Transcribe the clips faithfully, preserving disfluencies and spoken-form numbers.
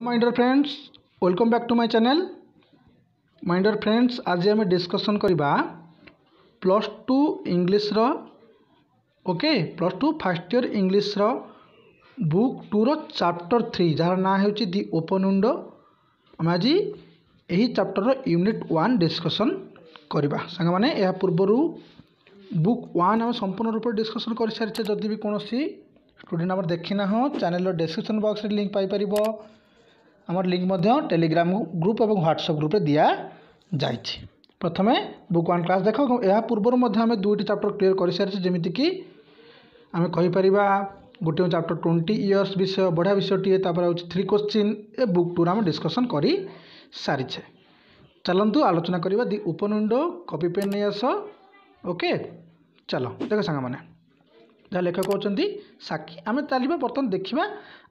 My dear friends, welcome back to my channel. My dear friends, ଆଜି ଆମେ discussion କରିବା plus two ଇଂଲିଶର okay plus two first year ଇଂଲିଶର book tour chapter three ଯାହାର ନାଁ ହେଉଛି ଦି ଓପନ୍ ୱିଣ୍ଡୋ ଆମେ ଆଜି ଏହି ଚାପ୍ଟରର ୟୁନିଟ୍ ୱାନ୍ ଡିସ୍କସନ୍ କରିବା ସାଙ୍ଗମାନେ ଏହା ପୂର୍ବରୁ ବୁକ୍ ୱାନ୍ ଆମେ ସମ୍ପୂର୍ଣ୍ଣ ରୂପରେ ଡିସ୍କସନ୍ କରିସାରିଛେ ଯଦି ବି କୌଣସି ଷ୍ଟୁଡେଣ୍ଟ ଆମର ଦେଖିନାହଁ ଚ୍ୟାନେଲର ଡେସ୍କ୍ରିପସନ୍ ବକ୍ସରେ ଲିଙ୍କ୍ ପାଇପାରିବ ଆମର ଲିଙ୍କ୍ ମଧ୍ୟ ଟେଲିଗ୍ରାମ ଗ୍ରୁପ୍ ଏବଂ ହ୍ୱାଟ୍ସଆପ୍ ଗ୍ରୁପ୍ରେ ଦିଆଯାଇଛି ପ୍ରଥମେ ବୁକ୍ ୱାନ୍ କ୍ଲାସ୍ ଦେଖ ଏବଂ ଏହା ପୂର୍ବରୁ ମଧ୍ୟ ଆମେ ଦୁଇଟି ଚାପ୍ଟର କ୍ଲିୟର କରିସାରିଛେ ଯେମିତିକି ଆମେ କହିପାରିବା ଗୋଟିଏ ଚାପ୍ଟର ଟ୍ୱେଣ୍ଟି ଇୟର୍ସ ବିଷୟ ବଢ଼ିଆ ବିଷୟଟିଏ ତାପରେ ହେଉଛି ଥ୍ରୀ କୋଶ୍ଚିନ୍ ଏ ବୁକ୍ ଟୁର ଆମେ ଡିସ୍କସନ୍ କରିସାରିଛେ ଚାଲନ୍ତୁ ଆଲୋଚନା କରିବା ଦି ଓପନ୍ ୱିଣ୍ଡୋ କପି ପେନ୍ ନେଇ ଆସ ଓକେ ଚାଲ ଦେଖ ସାଙ୍ଗମାନେ ଯାହା ଲେଖକ ହେଉଛନ୍ତି ସାକି ଆମେ ଚାଲିବା ବର୍ତ୍ତମାନ ଦେଖିବା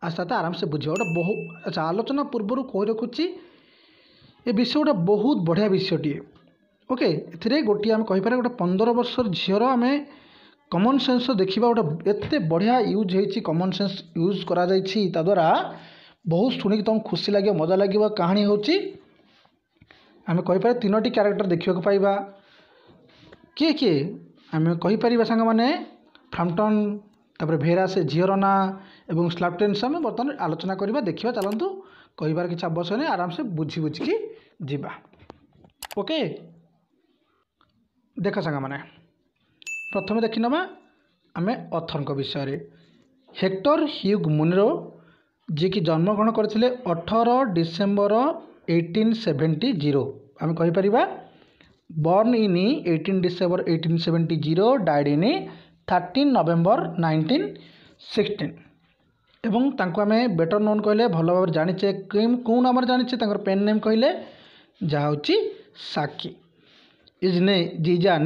ଆସ୍ତେ ଆସ୍ତେ ଆରାମସେ ବୁଝିବା ଗୋଟେ ବହୁ ଆଚ୍ଛା ଆଲୋଚନା ପୂର୍ବରୁ କହି ରଖୁଛି ଏ ବିଷୟ ଗୋଟେ ବହୁତ ବଢ଼ିଆ ବିଷୟଟିଏ ଓକେ ଏଥିରେ ଗୋଟିଏ ଆମେ କହିପାରିବା ଗୋଟେ ପନ୍ଦର ବର୍ଷର ଝିଅର ଆମେ କମନ୍ ସେନ୍ସ ଦେଖିବା ଗୋଟେ ଏତେ ବଢ଼ିଆ ୟୁଜ୍ ହେଇଛି କମନ୍ ସେନ୍ସ ୟୁଜ୍ କରାଯାଇଛି ତା ଦ୍ୱାରା ବହୁତ ଶୁଣିକି ତୁମକୁ ଖୁସି ଲାଗିବ ମଜା ଲାଗିବ କାହାଣୀ ହେଉଛି ଆମେ କହିପାରିବା ତିନୋଟି କ୍ୟାରେକ୍ଟର ଦେଖିବାକୁ ପାଇବା କିଏ କିଏ ଆମେ କହିପାରିବା ସାଙ୍ଗମାନେ ଫ୍ରାମ୍ପଟନ୍ ତାପରେ ଭେରା ସେ ଝିଅର ନାଁ ଏବଂ ସ୍ଲାପଟେନ୍ସ ଆମେ ବର୍ତ୍ତମାନ ଆଲୋଚନା କରିବା ଦେଖିବା ଚାଲନ୍ତୁ କହିବାର କିଛି ଆବଶ୍ୟକ ନାହିଁ ଆରାମସେ ବୁଝି ବୁଝିକି ଯିବା ଓକେ ଦେଖ ସାଙ୍ଗମାନେ ପ୍ରଥମେ ଦେଖିନେବା ଆମେ ଅଥରଙ୍କ ବିଷୟରେ ହେକ୍ଟର ହ୍ୟୁଗ୍ ମୁନରୋ ଯିଏକି ଜନ୍ମଗ୍ରହଣ କରିଥିଲେ ଅଠର ଡିସେମ୍ବର ଏଇଟିନ୍ ସେଭେଣ୍ଟି ଜିରୋ ଆମେ କହିପାରିବା born in eighteen December eighteen seventy zero died in thirteen November nineteen sixteen ଏବଂ ତାଙ୍କୁ ଆମେ ବେଟର୍ ନୋନ୍ କହିଲେ ଭଲ ଭାବରେ ଜାଣିଛେ କେଉଁ ନାମରେ ଜାଣିଛେ ତାଙ୍କର ପେନ୍ ନେମ୍ କହିଲେ ଯାହା ହେଉଛି ସାକି is ନେ is an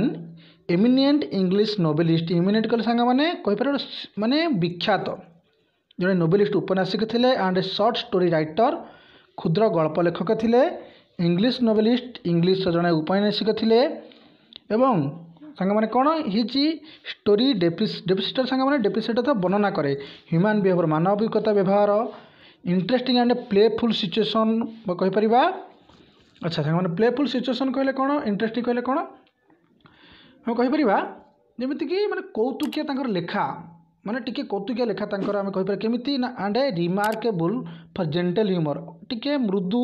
eminent English novelist eminent କହିଲେ ସାଙ୍ଗମାନେ କହିପାରିବେ ମାନେ ବିଖ୍ୟାତ ଜଣେ ନୋବେଲିଷ୍ଟ ଉପନ୍ୟାସିକ ଥିଲେ ଆଣ୍ଡ ସର୍ଟ ଷ୍ଟୋରି ରାଇଟର କ୍ଷୁଦ୍ର ଗଳ୍ପ ଲେଖକ ଥିଲେ ଇଂଲିଶ ନୋବେଲିଷ୍ଟ ଇଂଲିଶର ଜଣେ ଉପନ୍ୟାସିକ ଥିଲେ ଏବଂ ସାଙ୍ଗମାନେ କ'ଣ his story ଡେପିକ୍ଟେଡ୍ ସାଙ୍ଗମାନେ ଡେପିକ୍ଟେଡ୍ ତ ବର୍ଣ୍ଣନା କରେ ହ୍ୟୁମାନ୍ ବିହେଭିଅର ମାନବିକତା ବ୍ୟବହାର ଇଣ୍ଟରେଷ୍ଟିଂ ଆଣ୍ଡ ପ୍ଲେଫୁଲ୍ ସିଚୁଏସନ୍ କହିପାରିବା ଆଚ୍ଛା ସାଙ୍ଗମାନେ ପ୍ଲେଫୁଲ୍ ସିଚୁଏସନ୍ କହିଲେ କ'ଣ ଇଣ୍ଟରେଷ୍ଟିଂ କହିଲେ କ'ଣ ଆମେ କହିପାରିବା ଯେମିତିକି ମାନେ କୌତୁକିଆ ତାଙ୍କର ଲେଖା ମାନେ ଟିକେ କୌତୁକିଆ ଲେଖା ତାଙ୍କର ଆମେ କହିପାରିବା କେମିତି ନା and a remarkable for gentle humour ଟିକେ ମୃଦୁ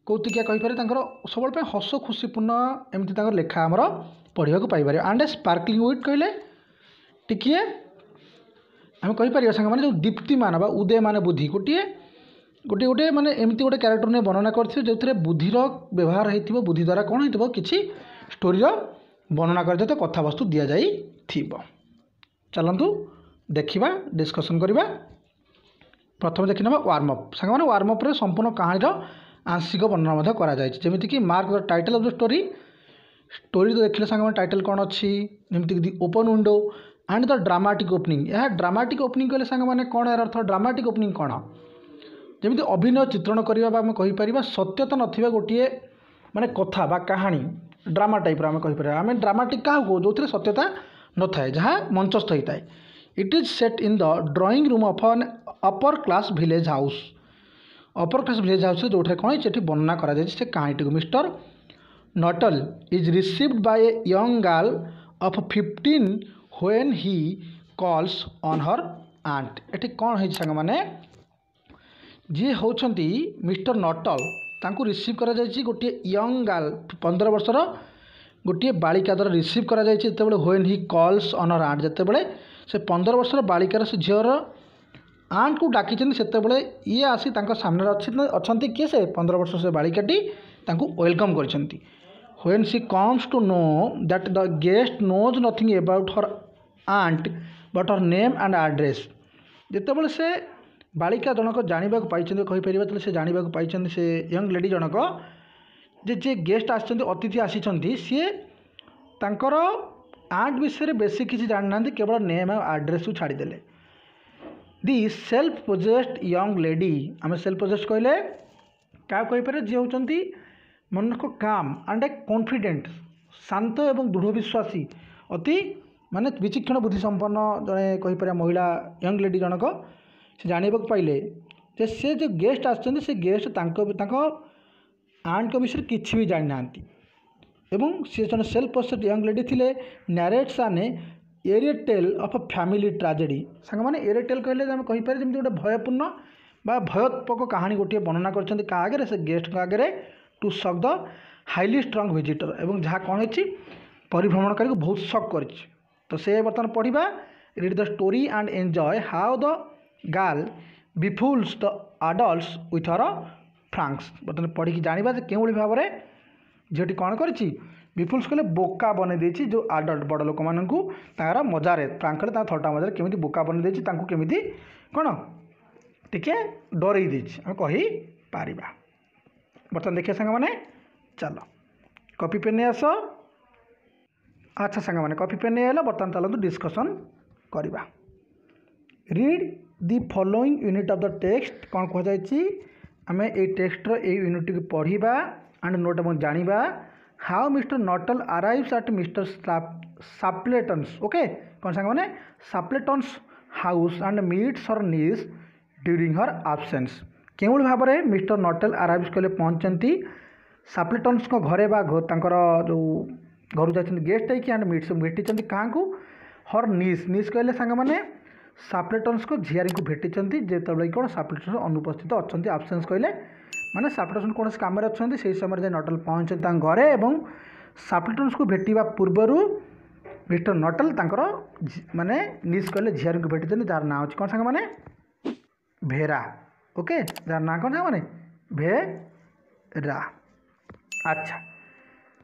କୌତୁକିଆ କହିପାରିବେ ତାଙ୍କର ସବୁବେଳେ ପାଇଁ ହସ ଖୁସିପୂର୍ଣ୍ଣ ଏମିତି ତାଙ୍କର ଲେଖା ଆମର ପଢ଼ିବାକୁ ପାଇପାରିବା ଆଣ୍ଡ ଏ ସ୍ପାର୍କଲିଂ ୱିଟ୍ କହିଲେ ଟିକିଏ ଆମେ କହିପାରିବା ସାଙ୍ଗମାନେ ଯେଉଁ ଦୀପ୍ତିମାନ ବା ଉଦୟମାନ ବୁଦ୍ଧି ଗୋଟିଏ ଗୋଟିଏ ଗୋଟିଏ ମାନେ ଏମିତି ଗୋଟେ କ୍ୟାରେକ୍ଟର ନେଇ ବର୍ଣ୍ଣନା କରିଥିବେ ଯେଉଁଥିରେ ବୁଦ୍ଧିର ବ୍ୟବହାର ହେଇଥିବ ବୁଦ୍ଧି ଦ୍ୱାରା କ'ଣ ହେଇଥିବ କିଛି ଷ୍ଟୋରିର ବର୍ଣ୍ଣନା କରାଯାଇଥିବ କଥାବସ୍ତୁ ଦିଆଯାଇଥିବ ଚାଲନ୍ତୁ ଦେଖିବା ଡିସ୍କସନ୍ କରିବା ପ୍ରଥମେ ଦେଖିନେବା ୱାର୍ମ ଅପ୍ ସାଙ୍ଗମାନେ ୱାର୍ମ ଅପ୍ରେ ସମ୍ପୂର୍ଣ୍ଣ କାହାଣୀର ଆଂଶିକ ବର୍ଣ୍ଣନା ମଧ୍ୟ କରାଯାଇଛି ଯେମିତିକି mark the title of the story story ତ ଦେଖିଲେ ସାଙ୍ଗମାନେ ଟାଇଟଲ୍ କ'ଣ ଅଛି ଯେମିତିକି The Open Window and the dramatic opening ଏହା ଡ୍ରାମାଟିକ୍ ଓପନିଂ କହିଲେ ସାଙ୍ଗମାନେ କ'ଣ ଏହାର ଅର୍ଥ ଡ୍ରାମାଟିକ୍ ଓପନିଂ କ'ଣ ଯେମିତି ଅଭିନୟ ଚିତ୍ରଣ କରିବା ବା ଆମେ କହିପାରିବା ସତ୍ୟତା ନଥିବା ଗୋଟିଏ ମାନେ କଥା ବା କାହାଣୀ ଡ୍ରାମା ଟାଇପ୍ର ଆମେ କହିପାରିବା ଆମେ ଡ୍ରାମାଟିକ୍ କାହାକୁ କହୁ ଯେଉଁଥିରେ ସତ୍ୟତା ନଥାଏ ଯାହା ମଞ୍ଚସ୍ଥ ହୋଇଥାଏ It is set in the drawing room of an upper class village house upper class village ହାଉସ୍ରେ ଯେଉଁଠାରେ କ'ଣ ହେଇଛି ସେଠି ବର୍ଣ୍ଣନା କରାଯାଇଛି ସେ କାହାଣୀଟିକୁ Mister Nuttel is received by a young girl of fifteen when he calls on her aunt ଏଠି କ'ଣ ହେଇଛି ସାଙ୍ଗମାନେ ଯିଏ ହେଉଛନ୍ତି ମିଷ୍ଟର ନଟଲ ତାଙ୍କୁ ରିସିଭ୍ କରାଯାଇଛି ଗୋଟିଏ ୟଙ୍ଗ ଗାର୍ଲ ପନ୍ଦର ବର୍ଷର ଗୋଟିଏ ବାଳିକା ଦ୍ୱାରା ରିସିଭ୍ କରାଯାଇଛି ଯେତେବେଳେ when he calls on her aunt ଯେତେବେଳେ ସେ ପନ୍ଦର ବର୍ଷର ବାଳିକାର ସେ ଝିଅର ଆଣ୍ଟକୁ ଡାକିଛନ୍ତି ସେତେବେଳେ ଇଏ ଆସି ତାଙ୍କ ସାମ୍ନାରେ ଅଛି ଅଛନ୍ତି କିଏ ସେ ପନ୍ଦର ବର୍ଷ ସେ ବାଳିକାଟି ତାଙ୍କୁ welcome କରିଛନ୍ତି when she comes to know that the guest knows nothing about her aunt but her name and address ଯେତେବେଳେ ସେ ବାଳିକା ଜଣକ ଜାଣିବାକୁ ପାଇଛନ୍ତି କହିପାରିବା ତାହେଲେ ସେ ଜାଣିବାକୁ ପାଇଛନ୍ତି ସେ ୟଙ୍ଗ ଲେଡ଼ି ଜଣକ ଯେ ଯିଏ ଗେଷ୍ଟ ଆସିଛନ୍ତି ଅତିଥି ଆସିଛନ୍ତି ସିଏ ତାଙ୍କର ଆଣ୍ଟ ବିଷୟରେ ବେଶୀ କିଛି ଜାଣିନାହାନ୍ତି କେବଳ ନେମ୍ ଆଉ ଆଡ୍ରେସ୍କୁ ଛାଡ଼ିଦେଲେ the self possessed young lady ଆମେ ସେଲ୍ଫ ପୋଜେସ୍ଡ କହିଲେ କାହାକୁ କହିପାରିବା ଯିଏ ହେଉଛନ୍ତି ମନକୁ କାମ୍ ଆଣ୍ଡ ଏ କନଫିଡେଣ୍ଟ ଶାନ୍ତ ଏବଂ ଦୃଢ଼ ବିଶ୍ୱାସୀ ଅତି ମାନେ ବିଚକ୍ଷଣ ବୁଦ୍ଧି ସମ୍ପନ୍ନ ଜଣେ କହିପାରିବା ମହିଳା ୟଙ୍ଗ ଲେଡ଼ି ଜଣକ ସେ ଜାଣିବାକୁ ପାଇଲେ ଯେ ଯେ ସେ ଯେଉଁ ଗେଷ୍ଟ ଆସିଛନ୍ତି ସେ ଗେଷ୍ଟ ତାଙ୍କ ତାଙ୍କ ଆଣ୍ଟଙ୍କ ବିଷୟରେ କିଛି ବି ଜାଣିନାହାନ୍ତି ଏବଂ ସେ ଜଣେ ସେଲ୍ଫ ପୋସେସ୍ଡ ୟଙ୍ଗ ଲେଡି ଥିଲେ narrates an eerie tale of family tragedy ସାଙ୍ଗମାନେ ଏରି ଟେଲ୍ କହିଲେ ଆମେ କହିପାରିବା ଯେମିତି ଗୋଟେ ଭୟପୂର୍ଣ୍ଣ ବା ଭୟୋତ୍ପକ କାହାଣୀ ଗୋଟିଏ ବର୍ଣ୍ଣନା କରିଛନ୍ତି କାହା ଆଗରେ ସେ ଗେଷ୍ଟଙ୍କ ଆଗରେ to shock the highly strung visitor ଏବଂ ଯାହା କ'ଣ ହେଇଛି ପରିଭ୍ରମଣକାରୀକୁ ବହୁତ ସକ୍ କରିଛି ତ ସେ ବର୍ତ୍ତମାନ ପଢ଼ିବା read the story and enjoy how the girl befools the adults with her pranks ବର୍ତ୍ତମାନ ପଢ଼ିକି ଜାଣିବା ଯେ କେଉଁଭଳି ଭାବରେ ଝିଅଟି କ'ଣ କରିଛି ବିଫୁଲ୍ସ କହିଲେ ବୋକା ବନେଇ ଦେଇଛି ଯେଉଁ ଆଡଲ୍ଟ ବଡ଼ ଲୋକମାନଙ୍କୁ ତାଙ୍କର ମଜାରେ ପ୍ରାଙ୍କ କଲେ ତାଙ୍କ ଥଟ୍ଟା ମଜାରେ କେମିତି ବୋକା ବନେଇ ଦେଇଛି ତାଙ୍କୁ କେମିତି କ'ଣ ଟିକେ ଡରେଇ ଦେଇଛି ଆମେ କହିପାରିବା ବର୍ତ୍ତମାନ ଦେଖିବା ସାଙ୍ଗମାନେ ଚାଲ କପି ପେନ୍ ନେଇ ଆସ ଆଚ୍ଛା ସାଙ୍ଗମାନେ କପି ପେନ୍ ନେଇ ଆସିଲ ବର୍ତ୍ତମାନ ଚାଲନ୍ତୁ ଡିସ୍କସନ୍ କରିବା read the following unit of the text କ'ଣ କୁହାଯାଇଛି ଆମେ ଏଇ ଟେକ୍ସଟର ଏଇ ୟୁନିଟ୍ଟିକୁ ପଢ଼ିବା ଆଣ୍ଡ ନୋଟ୍ ଏବଂ ଜାଣିବା how Mister Nuttel arrives at Mister Sappleton's okay କ'ଣ ସାଙ୍ଗମାନେ Sappleton's house and meets her niece during her absence କେଉଁଭଳି ଭାବରେ ମିଷ୍ଟର ନଟେଲ୍ ଆରାଇଭ୍ସ କଲେ ପହଞ୍ଚନ୍ତି ସାପ୍ଲେଟନ୍ସଙ୍କ ଘରେ ବା ତାଙ୍କର ଯେଉଁ ଘରୁ ଯାଇଛନ୍ତି ଗେଷ୍ଟ ହେଇକି ଆଣ୍ଡ ମିଟ୍ସ ଭେଟିଛନ୍ତି କାହାକୁ ହର୍ ନିସ୍ ନିସ୍ କହିଲେ ସାଙ୍ଗମାନେ ସାପ୍ଲେଟନ୍ସଙ୍କ ଝିଆରୀଙ୍କୁ ଭେଟିଛନ୍ତି ଯେତେବେଳେ କି କ'ଣ ସାପ୍ଲେଟନ୍ସ ଅନୁପସ୍ଥିତ ଅଛନ୍ତି ଆବସେନ୍ସ କହିଲେ ମାନେ ସାପ୍ଲେଟନ୍ସ କୌଣସି କାମରେ ଅଛନ୍ତି ସେହି ସମୟରେ ଯାଇ ନଟେଲ୍ ପହଞ୍ଚନ୍ତି ତାଙ୍କ ଘରେ ଏବଂ ସାପ୍ଲେଟନ୍ସକୁ ଭେଟିବା ପୂର୍ବରୁ ମିଷ୍ଟର ନଟେଲ୍ ତାଙ୍କର ମାନେ ନିସ୍ କହିଲେ ଝିଆରୀଙ୍କୁ ଭେଟିଛନ୍ତି ଯାହାର ନାଁ ହେଉଛି କ'ଣ ସାଙ୍ଗମାନେ ଭେରା ଓକେ ଯାହାର ନାଁ କ'ଣ ସାଙ୍ଗମାନେ ଭେରା ଆଚ୍ଛା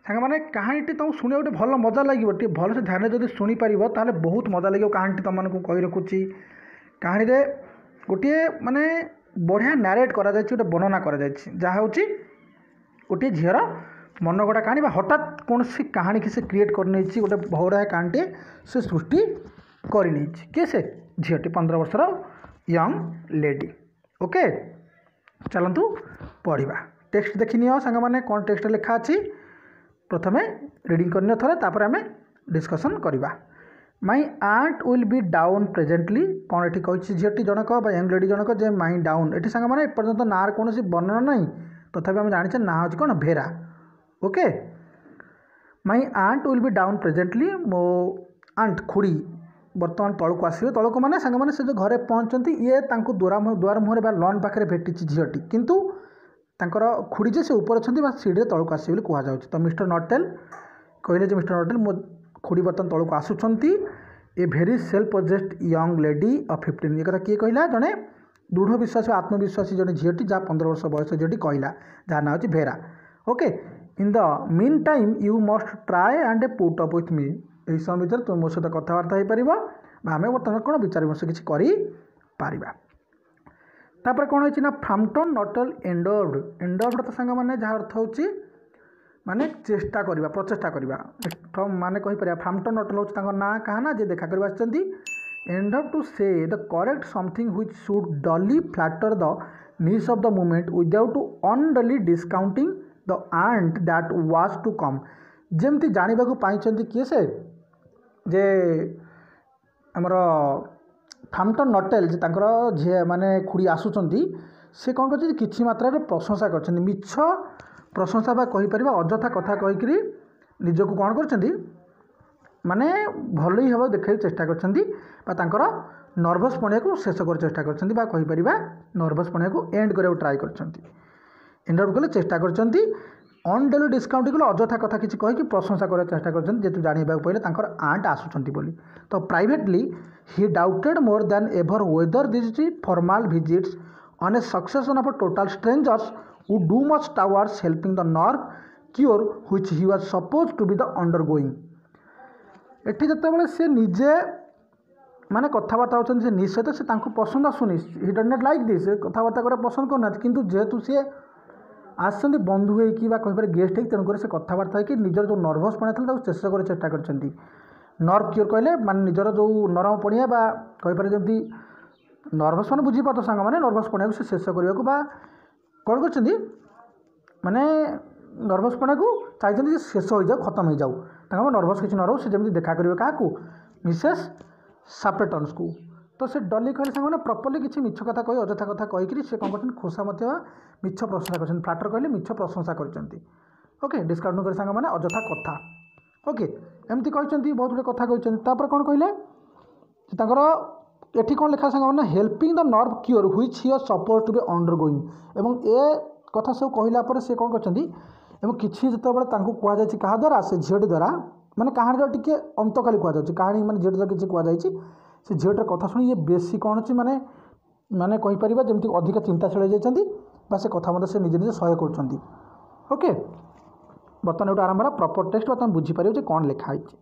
ସାଙ୍ଗମାନେ କାହାଣୀଟି ତୁମକୁ ଶୁଣିବାକୁ ଗୋଟେ ଭଲ ମଜା ଲାଗିବ ଟିକେ ଭଲସେ ଧ୍ୟାନରେ ଯଦି ଶୁଣିପାରିବ ତାହେଲେ ବହୁତ ମଜା ଲାଗିବ କାହାଣୀଟି ତୁମମାନଙ୍କୁ କହି ରଖୁଛି କାହାଣୀରେ ଗୋଟିଏ ମାନେ ବଢ଼ିଆ ନାରେଟ୍ କରାଯାଇଛି ଗୋଟେ ବର୍ଣ୍ଣନା କରାଯାଇଛି ଯାହା ହେଉଛି ଗୋଟିଏ ଝିଅର ମନଗଢ଼ା କାହାଣୀ ବା ହଠାତ୍ କୌଣସି କାହାଣୀକି ସେ କ୍ରିଏଟ୍ କରିନେଇଛି ଗୋଟେ ବଢ଼ିଆ କାହାଣୀଟିଏ ସେ ସୃଷ୍ଟି କରିନେଇଛି କିଏ ସେ ଝିଅଟି ପନ୍ଦର ବର୍ଷର ୟଙ୍ଗ ଲେଡି ଓକେ ଚାଲନ୍ତୁ ପଢ଼ିବା ଟେକ୍ସଟ ଦେଖିନିଅ ସାଙ୍ଗମାନେ କ'ଣ ଟେକ୍ସଟ ଲେଖା ଅଛି ପ୍ରଥମେ ରିଡ଼ିଂ କରିନିଅ ଥରେ ତାପରେ ଆମେ ଡିସ୍କସନ୍ କରିବା my aunt will be down presently କ'ଣ ଏଠି କହିଛି ଝିଅଟି ଜଣକ ବା ୟଙ୍ଗ ଲେଡି ଜଣକ ଯେ ମାଇ ଡାଉନ୍ ଏଠି ସାଙ୍ଗମାନେ ଏପର୍ଯ୍ୟନ୍ତ ନାଁର କୌଣସି ବର୍ଣ୍ଣନା ନାହିଁ ତଥାପି ଆମେ ଜାଣିଛେ ନାଁ ହେଉଛି କ'ଣ ଭେରା okay my aunt will be down presently ମୋ ଆଣ୍ଟ ଖୁଡ଼ି ବର୍ତ୍ତମାନ ତଳକୁ ଆସିବେ ତଳକୁ ମାନେ ସାଙ୍ଗମାନେ ସେ ଯେଉଁ ଘରେ ପହଞ୍ଚନ୍ତି ଇଏ ତାଙ୍କୁ ଦ୍ୱାର ଦୁଆର ମୁହଁରେ ବା ଲନ୍ ପାଖରେ ଭେଟିଛି ଝିଅଟି କିନ୍ତୁ ତାଙ୍କର ଖୁଡ଼ି ଯେ ସେ ଉପରେ ଅଛନ୍ତି ବା ସିଡ଼ିରେ ତଳକୁ ଆସିବେ ବୋଲି କୁହାଯାଉଛି ତ ମିଷ୍ଟର ନଟେଲ୍ କହିଲେ ଯେ ମିଷ୍ଟର ନଟେଲ୍ ମୋ ଖୁଡ଼ି ବର୍ତ୍ତମାନ ତଳକୁ ଆସୁଛନ୍ତି a very self possessed young lady of fifteen ଏ କଥା କିଏ କହିଲା ଜଣେ ଦୃଢ଼ ବିଶ୍ୱାସୀ ଆତ୍ମବିଶ୍ୱାସୀ ଜଣେ ଝିଅଟି ଯାହା ପନ୍ଦର ବର୍ଷ ବୟସ ଝିଅଟି କହିଲା ଯାହା ନାଁ ହେଉଛି ଭେରା okay in the meantime you must try and put up with me ଏହି ସମୟ ଭିତରେ ତୁମେ ମୋ ସହିତ କଥାବାର୍ତ୍ତା ହେଇପାରିବ ବା ଆମେ ବର୍ତ୍ତମାନ କ'ଣ ବିଚାର ବିମର୍ଶ କିଛି କରିପାରିବା ତାପରେ କ'ଣ ହେଇଛି ନା ଫ୍ରାମ୍ପଟନ୍ ନଟଲ୍ ଏଣ୍ଡର୍ଡ ଏଣ୍ଡର୍ଡ ତ ସାଙ୍ଗମାନେ ଯାହା ଅର୍ଥ ହେଉଛି ମାନେ ଚେଷ୍ଟା କରିବା ପ୍ରଚେଷ୍ଟା କରିବା ମାନେ କହିପାରିବା ଫ୍ରାମ୍ପଟନ୍ ନଟଲ୍ ହେଉଛି ତାଙ୍କ ନାଁ କାହା ନା ଯିଏ ଦେଖା କରିବା ଆସିଛନ୍ତି endeavoured to say the correct something which should duly flatter the niece of the moment without unduly discounting the aunt that was to come ଯେମିତି ଜାଣିବାକୁ ପାଇଛନ୍ତି କିଏ ସେ ଯେ ଆମର ଫ୍ରାମ୍ପଟନ୍ ନଟେଲ୍ ଯେ ତାଙ୍କର ଝିଅ ମାନେ ଖୁଡ଼ି ଆସୁଛନ୍ତି ସେ କ'ଣ କରିଛନ୍ତି କିଛି ମାତ୍ରାରେ ପ୍ରଶଂସା କରିଛନ୍ତି ମିଛ ପ୍ରଶଂସା ବା କହିପାରିବା ଅଯଥା କଥା କହିକିରି ନିଜକୁ କ'ଣ କରିଛନ୍ତି ମାନେ ଭଲ ହିଁ ହେବାକୁ ଦେଖାଇବାକୁ ଚେଷ୍ଟା କରିଛନ୍ତି ବା ତାଙ୍କର ନର୍ଭସ୍ ପଣିଆକୁ ଶେଷ କରିବାକୁ ଚେଷ୍ଟା କରିଛନ୍ତି ବା କହିପାରିବା ନର୍ଭସ୍ ପଣିଆକୁ ଏଣ୍ଡ କରିବାକୁ ଟ୍ରାଏ କରିଛନ୍ତି ଏଣ୍ଡ ଆଉଟ୍ କଲେ ଚେଷ୍ଟା କରିଛନ୍ତି ଅନଡ୍ୟୁଲି ଡିସକାଉଣ୍ଟ କଲେ ଅଯଥା କଥା କିଛି କହିକି ପ୍ରଶଂସା କରିବାକୁ ଚେଷ୍ଟା କରିଛନ୍ତି ଯେହେତୁ ଜାଣିବାକୁ ପାଇଲେ ତାଙ୍କର ଆଣ୍ଟ ଆସୁଛନ୍ତି ବୋଲି ତ privately he doubted more than ever whether these formal visits on a succession of total strangers would do much towards helping the nerve cure which he was supposed to be the undergoing ଏଠି ଯେତେବେଳେ ସେ ନିଜେ ମାନେ କଥାବାର୍ତ୍ତା ହେଉଛନ୍ତି ସେ ନିଜ ସହିତ ସେ ତାଙ୍କୁ ପସନ୍ଦ ଆସୁନି he does not like this କଥାବାର୍ତ୍ତା କରିବା ପସନ୍ଦ କରୁନାହାନ୍ତି କିନ୍ତୁ ଯେହେତୁ ସିଏ ଆସିଛନ୍ତି ବନ୍ଧୁ ହେଇକି ବା କହିପାରେ ଗେଷ୍ଟ ହେଇକି ତେଣୁକରି ସେ କଥାବାର୍ତ୍ତା ହେଇକି ନିଜର ଯେଉଁ ନର୍ଭସ୍ ପଣିଆ ଥିଲା ତାକୁ ଶେଷ କରିବାକୁ ଚେଷ୍ଟା କରିଛନ୍ତି ନର୍ଭ କ୍ୟୁର୍ କହିଲେ ମାନେ ନିଜର ଯେଉଁ ନରମ ପଣିଆ ବା କହିପାରେ ଯେମିତି ନର୍ଭସ୍ ମାନେ ବୁଝିପାରୁଥିବ ସାଙ୍ଗମାନେ ନର୍ଭସ୍ ପଣିଆକୁ ସେ ଶେଷ କରିବାକୁ ବା କ'ଣ କରିଛନ୍ତି ମାନେ ନର୍ଭସ୍ ପଣିଆକୁ ଚାହିଁଛନ୍ତି ଯେ ଶେଷ ହୋଇଯାଉ ଖତମ ହେଇଯାଉ ତାଙ୍କ ନର୍ଭସ୍ କିଛି ନ ରହୁ ସେ ଯେମିତି ଦେଖା କରିବେ କାହାକୁ ମିସେସ୍ ସାପ୍ଲେଟନ୍ସକୁ ତ ସେ ଡଲି କହିଲେ ସାଙ୍ଗମାନେ ପ୍ରପରଲି କିଛି ମିଛ କଥା କହି ଅଯଥା କଥା କହିକିରି ସେ କ'ଣ କରିଛନ୍ତି ଖୋସା ମଧ୍ୟ ମିଛ ପ୍ରଶଂସା କରିଛନ୍ତି ଫ୍ଲାଟର କହିଲେ ମିଛ ପ୍ରଶଂସା କରିଛନ୍ତି ଓକେ ଡିସକାଉଣ୍ଟ କରି ସାଙ୍ଗମାନେ ଅଯଥା କଥା ଓକେ ଏମିତି କହିଛନ୍ତି ବହୁତ ଗୁଡ଼ିଏ କଥା କହିଛନ୍ତି ତାପରେ କ'ଣ କହିଲେ ତାଙ୍କର ଏଠି କ'ଣ ଲେଖା ସାଙ୍ଗମାନେ helping the nerve cure which he supposed to be undergoing ଏବଂ ଏ କଥା ସବୁ କହିଲା ପରେ ସେ କ'ଣ କରିଛନ୍ତି ଏବଂ କିଛି ଯେତେବେଳେ ତାଙ୍କୁ କୁହାଯାଇଛି କାହା ଦ୍ୱାରା ସେ ଝିଅଟି ଦ୍ୱାରା ମାନେ କାହାଣୀର ଟିକେ ଅନ୍ତ ଖାଲି କୁହାଯାଉଛି କାହାଣୀ ମାନେ ଝିଅଟି ଦ୍ୱାରା କିଛି କୁହାଯାଇଛି ସେ ଝିଅଟିର କଥା ଶୁଣି ଇଏ ବେଶୀ କ'ଣ ଅଛି ମାନେ ମାନେ କହିପାରିବା ଯେମିତି ଅଧିକ ଚିନ୍ତାଶୀଳ ହେଇଯାଇଛନ୍ତି ବା ସେ କଥା ମଧ୍ୟ ସେ ନିଜେ ନିଜେ ସହ୍ୟ କରୁଛନ୍ତି ଓକେ ବର୍ତ୍ତମାନ ଏଇଠୁ ଆରମ୍ଭ ହେଲା ପ୍ରପର୍ ଟେକ୍ସଟ ବା ତୁମେ ବୁଝିପାରିବ ଯେ କ'ଣ ଲେଖା ହେଇଛି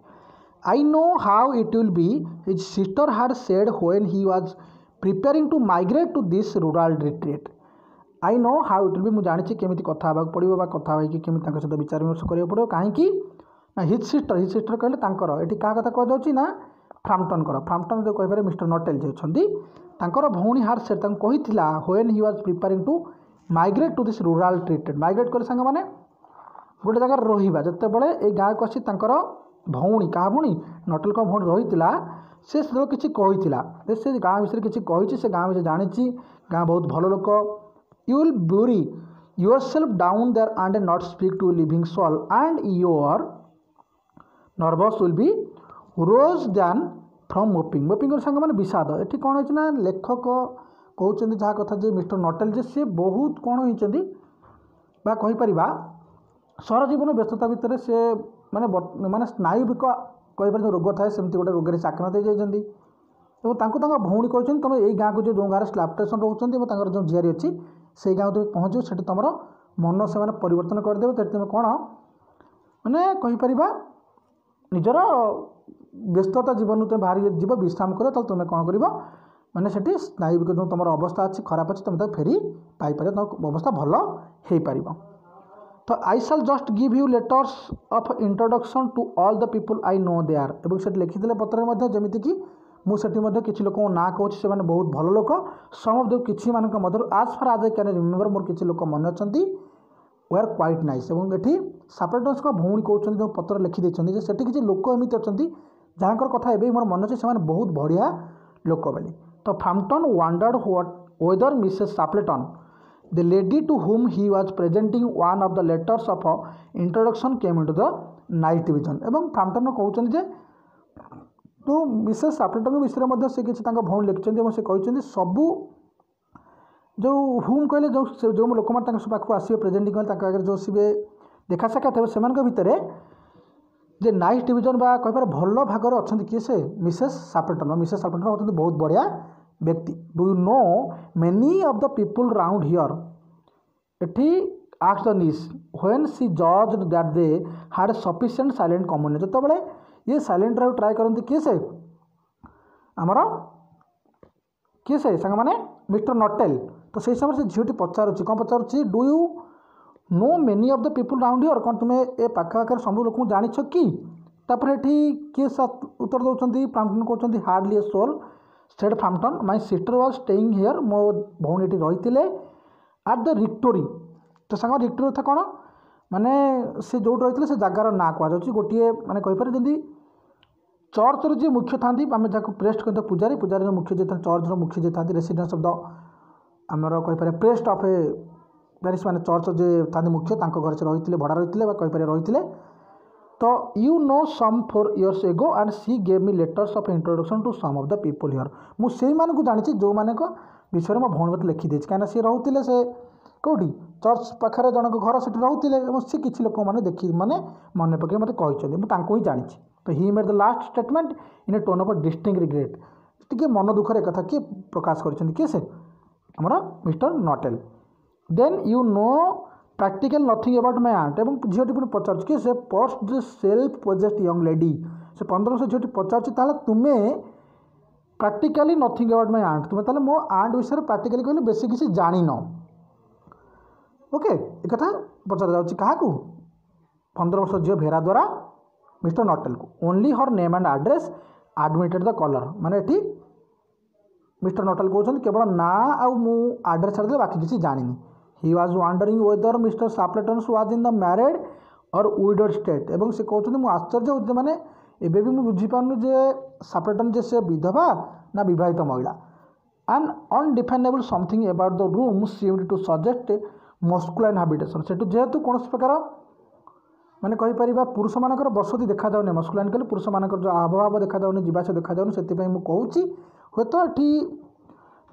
I know how it will be his sister had said when he was preparing to migrate to this rural retreat I know how it will be ମୁଁ ଜାଣିଛି କେମିତି କଥା ହେବାକୁ ପଡ଼ିବ ବା କଥା ହୋଇକି କେମିତି ତାଙ୍କ ସହିତ ବିଚାର ବିମର୍ଶ କରିବାକୁ ପଡ଼ିବ କାହିଁକି ନା his sister his sister କହିଲେ ତାଙ୍କର ଏଠି କାହା କଥା କୁହାଯାଉଛି ନା ଫ୍ରାମ୍ପଟନଙ୍କର ଫ୍ରାମ୍ପଟନ୍ ଯେଉଁ କହିପାରିବେ ମିଷ୍ଟର ନଟେଲ୍ ଯିଏ ଅଛନ୍ତି ତାଙ୍କର ଭଉଣୀ ହାଡ୍ ସେଡ୍ ତାଙ୍କୁ କହିଥିଲା when he was preparing to migrate to this rural retreat migrate କଲେ ସାଙ୍ଗମାନେ ଗୋଟେ ଜାଗାରେ ରହିବା ଯେତେବେଳେ ଏଇ ଗାଁକୁ ଆସି ତାଙ୍କର ଭଉଣୀ କାହା ଭଉଣୀ ନଟେଲଙ୍କ ଭଉଣୀ ରହିଥିଲା ସେ ସେତେବେଳେ କିଛି କହିଥିଲା ଯେ ସେ ଗାଁ ବିଷୟରେ କିଛି କହିଛି ସେ ଗାଁ ବିଷୟରେ ଜାଣିଛି ଗାଁ ବହୁତ ଭଲ ଲୋକ you will bury yourself down there and not speak to living soul and your nerves will be worse than from moping moping ସାଙ୍ଗମାନେ ବିଷାଦ ଏଠି କ'ଣ ହେଇଛି ନା ଲେଖକ କହୁଛନ୍ତି ଯାହା କଥା ଯେ ମିଷ୍ଟର ନଟେଲ ଯେ ସେ ବହୁତ କ'ଣ ହେଇଛନ୍ତି ବା କହିପାରିବା ସହର ଜୀବନ ବ୍ୟସ୍ତତା ଭିତରେ ସେ ମାନେ ମାନେ ସ୍ନାୟୁବିକ କହିପାରିବା ଯେଉଁ ରୋଗ ଥାଏ ସେମିତି ଗୋଟେ ରୋଗରେ ସେ ଆକ୍ରାନ୍ତ ହେଇଯାଇଛନ୍ତି ଏବଂ ତାଙ୍କୁ ତାଙ୍କ ଭଉଣୀ କହିଛନ୍ତି ତୁମେ ଏଇ ଗାଁକୁ ଯେଉଁ ଯେଉଁ ଗାଁରେ ସ୍ଲାପଟେସନ୍ ରହୁଛନ୍ତି ଏବଂ ତାଙ୍କର ଯେଉଁ ଝିଆରୀ ଅଛି ସେଇ ଗାଁକୁ ତୁମେ ପହଞ୍ଚିବ ସେଠି ତୁମର ମନ ସେମାନେ ପରିବର୍ତ୍ତନ କରିଦେବେ ସେଠି ତୁମେ କ'ଣ ମାନେ କହିପାରିବା ନିଜର ବ୍ୟସ୍ତତା ଜୀବନରୁ ତୁମେ ବାହାରି ଯିବ ବିଶ୍ରାମ କରିବ ତାହେଲେ ତୁମେ କ'ଣ କରିବ ମାନେ ସେଠି ସ୍ନାୟୁବିକ ଯେଉଁ ତୁମର ଅବସ୍ଥା ଅଛି ଖରାପ ଅଛି ତୁମେ ତାକୁ ଫେରି ପାଇପାରିବ ତୁମ ଅବସ୍ଥା ଭଲ ହେଇପାରିବ ତ I shall just give you letters of introduction to all the people I know there ଏବଂ ସେଠି ଲେଖିଥିଲେ ପତ୍ରରେ ମଧ୍ୟ ଯେମିତିକି ମୁଁ ସେଠି ମଧ୍ୟ କିଛି ଲୋକଙ୍କ ନାଁ କହୁଛି ସେମାନେ ବହୁତ ଭଲ ଲୋକ ସମ୍ ଅଫ୍ the କିଛି ମାନଙ୍କ ମଧ୍ୟରୁ as far as I can remember ମୋର କିଛି ଲୋକ ମନେ ଅଛନ୍ତି ୱେର୍ କ୍ୱାଇଟ୍ ନାଇସ୍ ଏବଂ ଏଠି ସାପେଟନ୍ସଙ୍କ ଭଉଣୀ କହୁଛନ୍ତି ଯେଉଁ ପତ୍ର ଲେଖିଦେଇଛନ୍ତି ଯେ ସେଠି କିଛି ଲୋକ ଏମିତି ଅଛନ୍ତି ଯାହାଙ୍କର କଥା ଏବେ ବି ମୋର ମନେ ଅଛି ସେମାନେ ବହୁତ ବଢ଼ିଆ ଲୋକ ବୋଲି ତ Frampton wondered what whether Mrs. Sappleton the lady to whom he was presenting one of the letters of introduction came into the nice division ଏବଂ ଫ୍ରାମ୍ପଟନ୍ କହୁଛନ୍ତି ଯେ ତ ମିସେସ୍ ସାପଲେଟନ୍ଙ୍କ ବିଷୟରେ ମଧ୍ୟ ସେ କିଛି ତାଙ୍କ ଭଉଣୀ ଲେଖିଛନ୍ତି ଏବଂ ସେ କହିଛନ୍ତି ସବୁ ଯେଉଁ ହୁମ୍ କହିଲେ ଯେଉଁ ଯେଉଁ ଲୋକମାନେ ତାଙ୍କ ପାଖକୁ ଆସିବେ ପ୍ରେଜେଣ୍ଟିଂ କଲେ ତାଙ୍କ ଆଗରେ ଯେଉଁ ଆସିବେ ଦେଖା ସାକ୍ଷାତ ହେବେ ସେମାନଙ୍କ ଭିତରେ ଯେ ନାଇସ୍ ଡିଭିଜନ୍ ବା କହିପାରେ ଭଲ ଭାଗରେ ଅଛନ୍ତି କିଏ ସେ ମିସେସ୍ ସାପଲେଟନ୍ ବା ମିସେସ୍ ସାପଲେଟନ୍ ହେଉଛନ୍ତି ବହୁତ ବଢ଼ିଆ ବ୍ୟକ୍ତି Do you know many of the people round here ଏଠି asked the niece when she judged that they had sufficient silent communion ଯେତେବେଳେ ଇଏ ସାଇଲେଣ୍ଟ ରହିବାକୁ ଟ୍ରାଏ କରନ୍ତି କିଏ ସେ ଆମର କିଏ ସେ ସାଙ୍ଗମାନେ ମିଷ୍ଟର ନଟେଲ୍ ତ ସେଇ ସମୟରେ ସେ ଝିଅଟି ପଚାରୁଛି କ'ଣ ପଚାରୁଛି Do you know many of the people round here କ'ଣ ତୁମେ ଏ ପାଖାପାଖରେ ସବୁ ଲୋକଙ୍କୁ ଜାଣିଛ କି ତାପରେ ଏଠି କିଏ ଉତ୍ତର ଦେଉଛନ୍ତି ଫ୍ରାମ୍ପଟନ୍ କହୁଛନ୍ତି Hardly a soul said Frampton my sister was staying here ମୋ ଭଉଣୀ ଏଠି ରହିଥିଲେ ଆଟ୍ the ରିକ୍ଟୋରି ତ ସାଙ୍ଗ ରିକ୍ଟୋରି କଥା କ'ଣ ମାନେ ସେ ଯେଉଁଠି ରହିଥିଲେ ସେ ଜାଗାର ନାଁ କୁହାଯାଉଛି ଗୋଟିଏ ମାନେ କହିପାରେ ଯେମିତି ଚର୍ଚ୍ଚର ଯିଏ ମୁଖ୍ୟ ଥାନ୍ତି ଆମେ ଯାହାକୁ ପ୍ରେଷ୍ଟ କହିଥାଉ ପୂଜାରୀ ପୂଜାରୀର ମୁଖ୍ୟ ଯିଏ ଥାନ୍ତି ଚର୍ଚ୍ଚର ମୁଖ୍ୟ ଯିଏ ଥାନ୍ତି ରେସିଡେନ୍ସ ଅଫ୍ the ଆମର କହିପାରିବା ପ୍ରେଷ୍ଟ ଅଫ୍ ଏ ପ୍ୟାରିସ୍ ମାନେ ଚର୍ଚ୍ଚ ଯିଏ ଥାନ୍ତି ମୁଖ୍ୟ ତାଙ୍କ ଘରେ ସେ ରହିଥିଲେ ଭଡ଼ା ରହିଥିଲେ ବା କହିପାରିବା ରହିଥିଲେ ତ you know some four years ago and she gave me letters of introduction to some of the people here ମୁଁ ସେଇମାନଙ୍କୁ ଜାଣିଛି ଯେଉଁମାନଙ୍କ ବିଷୟରେ ମୋ ଭଉଣୀ ମୋତେ ଲେଖିଦେଇଛି କାହିଁକିନା ସିଏ ରହୁଥିଲେ ସେ କେଉଁଠି ଚର୍ଚ୍ଚ ପାଖରେ ଜଣଙ୍କ ଘର ସେଠି ରହୁଥିଲେ ଏବଂ ସେ କିଛି ଲୋକମାନେ ଦେଖି ମାନେ ମନେ ପକାଇ ମୋତେ କହିଛନ୍ତି ମୁଁ ତାଙ୍କୁ ହିଁ ଜାଣିଛି ତ he made the last statement in a tone of distinct regret ଟିକେ ମନ ଦୁଃଖରେ ଏକଥା କିଏ ପ୍ରକାଶ କରିଛନ୍ତି କିଏ ସେ ଆମର mister Nuttall then you know practically nothing about my aunt ଏବଂ ଝିଅଟି ପୁଣି ପଚାରୁଛି କି ସେ pursued the self possessed young lady ସେ ପନ୍ଦର ବର୍ଷ ଝିଅଟି ପଚାରୁଛି ତାହେଲେ ତୁମେ practically nothing about my aunt ତୁମେ ତାହେଲେ ମୋ ଆଣ୍ଟ ବିଷୟରେ ପ୍ରାକ୍ଟିକାଲି କହିଲେ ବେଶୀ କିଛି ଜାଣିନ ଓକେ ଏକଥା ପଚରାଯାଉଛି କାହାକୁ ପନ୍ଦର ବର୍ଷ ଝିଅ ଭେରା ଦ୍ୱାରା mister ନଟେଲକୁ Only her name and address admitted the caller ମାନେ ଏଠି ମିଷ୍ଟର ନଟେଲ କହୁଛନ୍ତି କେବଳ ନାଁ ଆଉ ମୁଁ ଆଡ୍ରେସ୍ ଛାଡ଼ିଦେଲେ ବାକି କିଛି ଜାଣିନି He was wondering whether Mr. Sappleton's was in the married or widowed state ଏବଂ ସେ କହୁଛନ୍ତି ମୁଁ ଆଶ୍ଚର୍ଯ୍ୟ ହେଉଛି ମାନେ ଏବେ ବି ମୁଁ ବୁଝିପାରୁନି ଯେ ସାପ୍ଲେଟନ୍ ଯେ ସେ ବିଧବା ନା ବିବାହିତ ମହିଳା An undefinable something about the room seemed to suggest masculine habitation ସେଠୁ ଯେହେତୁ କୌଣସି ପ୍ରକାର ମାନେ କହିପାରିବା ପୁରୁଷମାନଙ୍କର ବସତି ଦେଖାଯାଉନି ମସ୍କୁଲାଇନ୍ କହିଲେ ପୁରୁଷମାନଙ୍କର ଯେଉଁ ଆବଭାବ ଦେଖାଯାଉନି ଯିବାଆସିବା ଦେଖାଯାଉନି ସେଥିପାଇଁ ମୁଁ କହୁଛି ହୁଏତ ଏଠି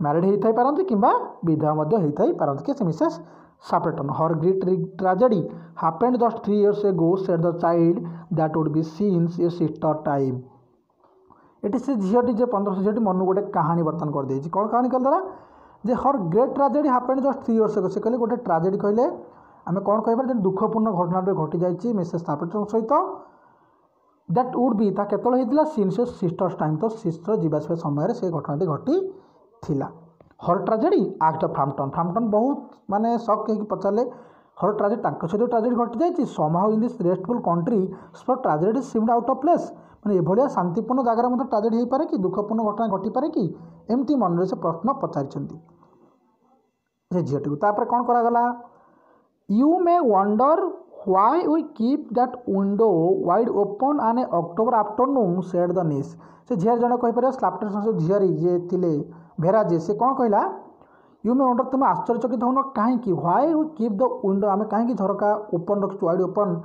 ମ୍ୟାରିଡ଼ ହେଇଥାଇ ପାରନ୍ତି କିମ୍ବା ବିଧବା ମଧ୍ୟ ହେଇଥାଇ ପାରନ୍ତି କିଏ ସେ Mrs ସାପ୍ଲେଟନ୍ Her great tragedy happened just three years ago said the child that would be since your sister's time ଏଠି ସେ ଝିଅଟି ଯେ ପନ୍ଦର ବର୍ଷ ଝିଅଟି ମନକୁ ଗୋଟେ କାହାଣୀ ବର୍ତ୍ତମାନ କରିଦେଇଛି କ'ଣ କାହାଣୀ କରିଦେଲା ଯେ her great tragedy happened just three years ago ସେ କହିଲେ ଗୋଟେ ଟ୍ରାଜେଡ଼ି କହିଲେ ଆମେ କ'ଣ କହିପାରିବା ଯେ ଦୁଃଖପୂର୍ଣ୍ଣ ଘଟଣାଟେ ଘଟିଯାଇଛି ମିସେସ୍ ସାପ୍ଲେଟନ୍ ସହିତ that Wood ବି ତା କେତେବେଳେ ହେଇଥିଲା ସିନ୍ସ ସିଷ୍ଟର୍ସ ଟାଇମ୍ ତ ସିଷ୍ଟର ଯିବା ଆସିବା ସମୟରେ ସେ ଘଟଣାଟି ଘଟିଥିଲା Her tragedy asked Frampton Frampton ବହୁତ ମାନେ ସକ୍ ହେଇକି ପଚାରିଲେ ହର୍ ଟ୍ରାଜେଡ଼ି ତାଙ୍କ ସହିତ ଟ୍ରାଜେଡ଼ି ଘଟିଯାଇଛି Somehow in this restful country such tragedy seemed out of place ମାନେ ଏଭଳିଆ ଶାନ୍ତିପୂର୍ଣ୍ଣ ଜାଗାରେ ମଧ୍ୟ ଟ୍ରାଜେଡ଼ି ହେଇପାରେ କି ଦୁଃଖପୂର୍ଣ୍ଣ ଘଟଣା ଘଟିପାରେ କି ଏମିତି ମନରେ ସେ ପ୍ରଶ୍ନ ପଚାରିଛନ୍ତି ସେ ଝିଅଟିକୁ ତାପରେ କ'ଣ କରାଗଲା You may wonder why we keep that window wide open an October afternoon said the niece ସେ ଝିଆରୀ ଜଣେ କହିପାରିବ ସ୍ଲାପ୍ଟନ୍ ଝିଆରୀ ଯିଏ ଥିଲେ ଭେରା ଯିଏ ସେ କ'ଣ କହିଲା you May wonder ତୁମେ ଆଶ୍ଚର୍ଯ୍ୟଚକିତ ହେଉନ କାହିଁକି why we keep the window ଆମେ କାହିଁକି ଝରକା ଓପନ୍ ରଖିଛୁ wide open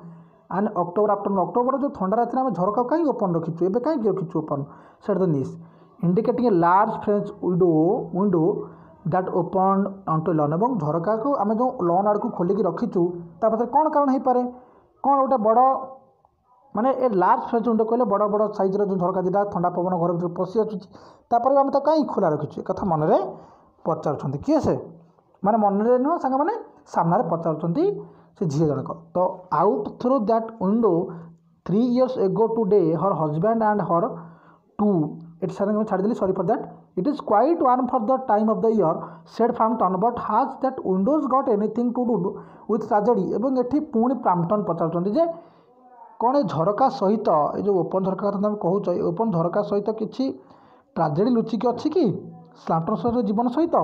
an October afternoon October ଯେଉଁ ଥଣ୍ଡା ରାତିରେ ଆମେ ଝରକା କାହିଁକି ଓପନ୍ ରଖିଛୁ ଏବେ କାହିଁକି ରଖିଛୁ open said the niece indicating a large French window window that opened onto lawn ଏବଂ ଝରକାକୁ ଆମେ ଯେଉଁ ଲନ୍ ଆଡ଼କୁ ଖୋଲିକି ରଖିଛୁ ତା ପଛରେ କ'ଣ କାରଣ ହେଇପାରେ କ'ଣ ଗୋଟେ ବଡ଼ ମାନେ ଏ ଲାର୍ଜ ଫ୍ରେଞ୍ଚ ୱିଣ୍ଡୋ କହିଲେ ବଡ଼ ବଡ଼ ସାଇଜ୍ର ଯେଉଁ ଝରକା ଦୁଇଟା ଥଣ୍ଡା ପବନ ଘର ଭିତରେ ପଶି ଆସୁଛି ତାପରେ ବି ଆମେ ତାକୁ କାହିଁକି ଖୋଲା ରଖିଛୁ ଏ କଥା ମନରେ ପଚାରୁଛନ୍ତି କିଏ ସେ ମାନେ ମନରେ ନୁହଁ ସାଙ୍ଗମାନେ ସାମ୍ନାରେ ପଚାରୁଛନ୍ତି ସେ ଝିଅ ଜଣକ ତ out through that window three years ago to day her husband and her two ଏଠି ସାର୍ ମୁଁ ଛାଡ଼ିଦେଲି sorry for that it is quite warm for the time of the year said Frampton but has that window's got anything to do with tragedy ଏବଂ ଏଠି ପୁଣି ଫ୍ରାମ୍ପଟନ୍ ପଚାରୁଛନ୍ତି ଯେ କ'ଣ ଏ ଝରକା ସହିତ ଏ ଯେଉଁ ଓପନ୍ ଝରକା କଥା ତୁମେ କହୁଛ ଏ ଓପନ୍ ଝରକା ସହିତ କିଛି ଟ୍ରାଜେଡ଼ି ଲୁଚିକି ଅଛି କି ସ୍ଲାମ୍ପଟନ୍ ସହିତ ଜୀବନ ସହିତ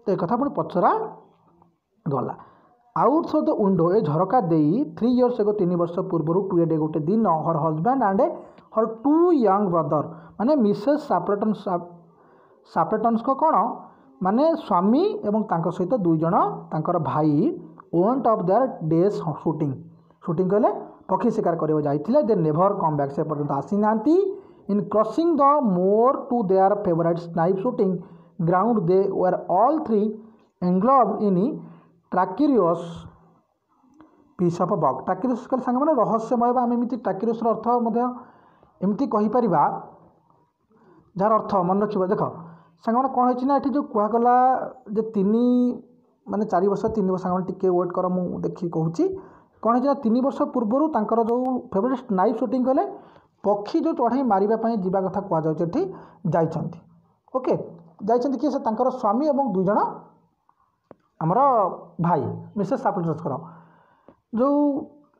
ତ ଏ କଥା ପୁଣି ପଚରା ଗଲା ଆଉଟ୍ ଥ୍ରୁ the window ଏ ଝରକା ଦେଇ ଥ୍ରୀ ଇୟର୍ସ ଏଗୋ ତିନି ବର୍ଷ ପୂର୍ବରୁ ଟୁ ଏ ଡେ ଗୋଟେ ଦିନ her husband and her two young brother ମାନେ ମିସେସ୍ ସାପ୍ଲେଟନ୍ ସାପ୍ଲେଟନ୍ସଙ୍କ କ'ଣ ମାନେ ସ୍ୱାମୀ ଏବଂ ତାଙ୍କ ସହିତ ଦୁଇ ଜଣ ତାଙ୍କର ଭାଇ went off their day's shooting shooting କହିଲେ ପକ୍ଷୀ ଶିକାର କରିବାକୁ ଯାଇଥିଲେ They never come back ସେ ପର୍ଯ୍ୟନ୍ତ ଆସିନାହାନ୍ତି In crossing the moor to their favourite snipe shooting ground they were all three engulfed in treacherous piece of bog treacherous କହିଲେ ସାଙ୍ଗମାନେ ରହସ୍ୟମୟ ବା ଆମେ ଏମିତି ଟ୍ରେଚରସ୍ର ଅର୍ଥ ମଧ୍ୟ ଏମିତି କହିପାରିବା ଯାହାର ଅର୍ଥ ମନେ ରଖିବ ଦେଖ ସାଙ୍ଗମାନେ କ'ଣ ହେଇଛି ନା ଏଠି ଯେଉଁ କୁହାଗଲା ଯେ ତିନି ମାନେ ଚାରି ବର୍ଷ ତିନି ବର୍ଷ ସାଙ୍ଗମାନେ ଟିକେ ୱେଟ୍ କର ମୁଁ ଦେଖିକି କହୁଛି କ'ଣ ହେଇଛି ନା ତିନି ବର୍ଷ ପୂର୍ବରୁ ତାଙ୍କର ଯେଉଁ ଫେଭରାଇଟ୍ ସ୍ନାଇପ୍ ସୁଟିଂ କଲେ ପକ୍ଷୀ ଯେଉଁ ଚଢ଼େଇ ମାରିବା ପାଇଁ ଯିବା କଥା କୁହାଯାଉଛି ଏଠି ଯାଇଛନ୍ତି ଓକେ ଯାଇଛନ୍ତି କିଏ ସେ ତାଙ୍କର ସ୍ୱାମୀ ଏବଂ ଦୁଇ ଜଣ ଆମର ଭାଇ ମିସେସ୍ ସାପ୍ଲେଟନ୍ସଙ୍କର ଯେଉଁ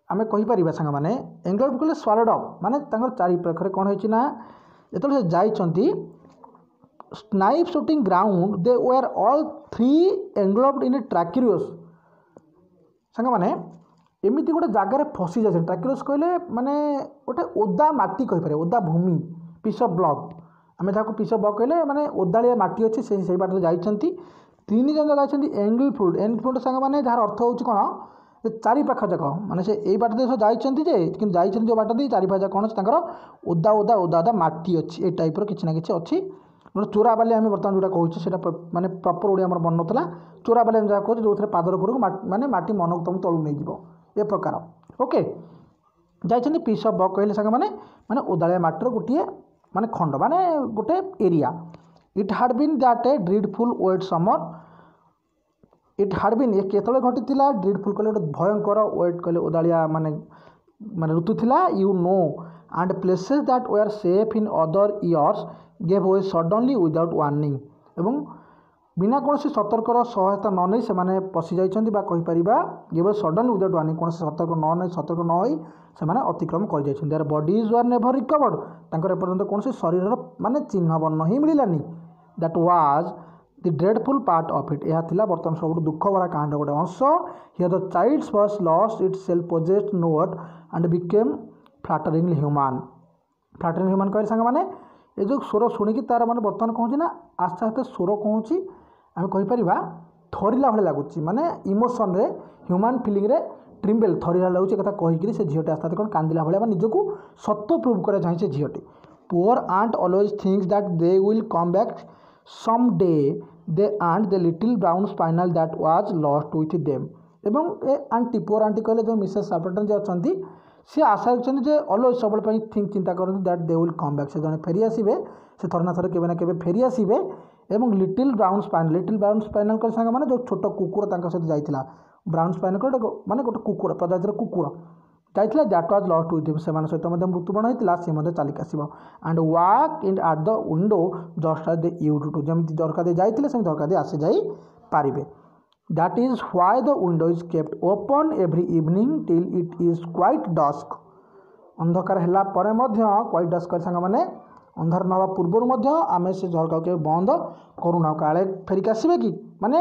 ଆମେ କହିପାରିବା ସାଙ୍ଗମାନେ ଏନଗଲ୍ଫ କହିଲେ ସ୍ୱାଲୋଡ଼ ଅପ୍ ମାନେ ତାଙ୍କର ଚାରିପାଖରେ କ'ଣ ହେଇଛି ନା ଯେତେବେଳେ ସେ ଯାଇଛନ୍ତି snipe shooting ground they were all three engulfed in a treacherous ସାଙ୍ଗମାନେ ଏମିତି ଗୋଟେ ଜାଗାରେ ଫସି ଯାଇଛନ୍ତି ଟ୍ରେଚରସ୍ କହିଲେ ମାନେ ଗୋଟେ ଓଦା ମାଟି କହିପାରିବେ ଓଦା ଭୂମି ପିସ୍ ଅଫ୍ ବଗ୍ ଆମେ ଯାହାକୁ ପିସ୍ ଅଫ୍ ବଗ୍ କହିଲେ ମାନେ ଓଦାଳିଆ ମାଟି ଅଛି ସେ ସେଇ ବାଟରେ ଯାଇଛନ୍ତି ତିନି ଜଣ ଯାଇଛନ୍ତି ଏନଗଲ୍ଫଡ୍ ଏନଗଲ୍ଫଡ୍ ସାଙ୍ଗମାନେ ଯାହାର ଅର୍ଥ ହେଉଛି କ'ଣ ଯେ ଚାରିପାଖ ଯାକ ମାନେ ସେ ଏଇ ବାଟ ଦେଇ ଯାଇଛନ୍ତି ଯେ କିନ୍ତୁ ଯାଇଛନ୍ତି ଯେଉଁ ବାଟ ଦେଇ ଚାରିପାଖ ଯାକ କ'ଣ ଅଛି ତାଙ୍କର ଓଦା ଓଦା ଓଦା ଓଦା ମାଟି ଅଛି ଏ ଟାଇପ୍ର କିଛି ନା କିଛି ଅଛି ଗୋଟେ ଚୋରାବାଲି ଆମେ ବର୍ତ୍ତମାନ ଯେଉଁଟା କହୁଛେ ସେଇଟା ମାନେ ପ୍ରପର୍ ଓଡ଼ିଆ ଆମର ମନେ ନଥିଲା ଚୋରାବାଲି ଆମେ ଯାହା କହୁଛେ ଯେଉଁଥିରେ ପାଦର ଉପରକୁ ମାନେ ମାଟି ମନକୁ ତୁମକୁ ତଳକୁ ନେଇଯିବ ଏ ପ୍ରକାର ଓକେ ଯାଇଛନ୍ତି ପିସ୍ ଅଫ୍ ବଗ୍ କହିଲେ ସାଙ୍ଗମାନେ ମାନେ ଓଦାଳିଆ ମାଟିର ଗୋଟିଏ ମାନେ ଖଣ୍ଡ ମାନେ ଗୋଟେ area It had been that a dreadful wet summer it had been ଏ କେତେବେଳେ ଘଟିଥିଲା ଡ୍ରେଡଫୁଲ୍ କହିଲେ ଗୋଟେ ଭୟଙ୍କର ୱେଟ୍ କହିଲେ ଓଦାଳିଆ ମାନେ ମାନେ ଋତୁ ଥିଲା you know and places that were safe in other years gave way suddenly without warning ଏବଂ ବିନା କୌଣସି ସତର୍କର ସହାୟତା ନ ନେଇ ସେମାନେ ପଶିଯାଇଛନ୍ତି ବା କହିପାରିବା ଗେଭ୍ ସଡନ୍ଲି ୱିଦାଉଟ୍ ୱାର୍ଣ୍ଣିଂ କୌଣସି ସତର୍କ ନ ନେଇ ସତର୍କ ନ ହୋଇ ସେମାନେ ଅତିକ୍ରମ କରିଯାଇଛନ୍ତି Their bodies were never recovered ତାଙ୍କର ଏପର୍ଯ୍ୟନ୍ତ କୌଣସି ଶରୀରର ମାନେ ଚିହ୍ନ ବର୍ଣ୍ଣ ହିଁ ମିଳିଲାନି That was the dreadful part of it ଏହା ଥିଲା ବର୍ତ୍ତମାନ ସବୁଠୁ ଦୁଃଖ ଭରା କାହାଣୀର ଗୋଟେ ଅଂଶ Here the child's voice lost its self possessed note and became falteringly human flattering human କହିଲେ ସାଙ୍ଗମାନେ ଏ ଯେଉଁ ସ୍ୱର ଶୁଣିକି ତା'ର ମାନେ ବର୍ତ୍ତମାନ କ'ଣ ହେଉଛି ନା ଆସ୍ତେ ଆସ୍ତେ ସ୍ୱର କ'ଣ ହେଉଛି ଆମେ କହିପାରିବା ଥରିଲା ଭଳିଆ ଲାଗୁଛି ମାନେ ଇମୋସନ୍ରେ ହ୍ୟୁମାନ୍ ଫିଲିଂରେ ଟ୍ରିମ୍ବେଲ୍ ଥରିଲା ଲାଗୁଛି ଏ କଥା କହିକିରି ସେ ଝିଅଟି ଆସ୍ତେ ଆସ୍ତେ କ'ଣ କାନ୍ଦିଲା ଭଳିଆ ବା ନିଜକୁ ସତ ପ୍ରୁଭ୍ କରିବାକୁ ଚାହେଁ ସେ ଝିଅଟି Poor aunt always thinks that they will come back some day they and the little brown spaniel that was lost with them ଏବଂ ଏ ଆଣ୍ଟି ପୁଅର୍ ଆଣ୍ଟି କହିଲେ ଯେଉଁ ମିସେସ୍ ସାପଲ୍ଟନ୍ ଯିଏ ଅଛନ୍ତି ସିଏ ଆଶା ରଖିଛନ୍ତି ଯେ ଅଲୱେଜ୍ ସବୁବେଳେ ପାଇଁ ଥିଙ୍କ ଚିନ୍ତା କରନ୍ତି that they will come back ସେ ଜଣେ ଫେରି ଆସିବେ ସେ ଥରେ ନା ଥରେ କେବେ ନା କେବେ ଫେରି ଆସିବେ ଏବଂ little brown spaniel little brown spaniel କହିଲେ ସାଙ୍ଗମାନେ ଯେଉଁ ଛୋଟ କୁକୁର ତାଙ୍କ ସହିତ ଯାଇଥିଲା ବ୍ରାଉନ୍ ସ୍ପାନିଏଲ୍ ଗୋଟେ ମାନେ ଗୋଟେ କୁକୁର ପ୍ରଜାତିର କୁକୁର ଯାଇଥିଲା that was lost with ସେମାନଙ୍କ ସହିତ ମଧ୍ୟ ମୃତ୍ୟୁବରଣ ହୋଇଥିଲା ସେ ମଧ୍ୟ ଚାଲିକି ଆସିବ and walk in at the window just as they used to ଯେମିତି ଝରକା ଦେଇ ଯାଇଥିଲେ ସେମିତି ଝରକା ଦେଇ ଆସିଯାଇ ପାରିବେ That is why the window is kept open every evening till it is quite dusk ଅନ୍ଧକାର ହେଲା ପରେ ମଧ୍ୟ କ୍ୱାଇଟ୍ ଡସ୍କ ସାଙ୍ଗମାନେ ଅନ୍ଧାର ନ ହେବା ପୂର୍ବରୁ ମଧ୍ୟ ଆମେ ସେ ଝରକାକୁ କେବେ ବନ୍ଦ କରୁନାହୁଁ କାଳେ ଫେରିକି ଆସିବେ କି ମାନେ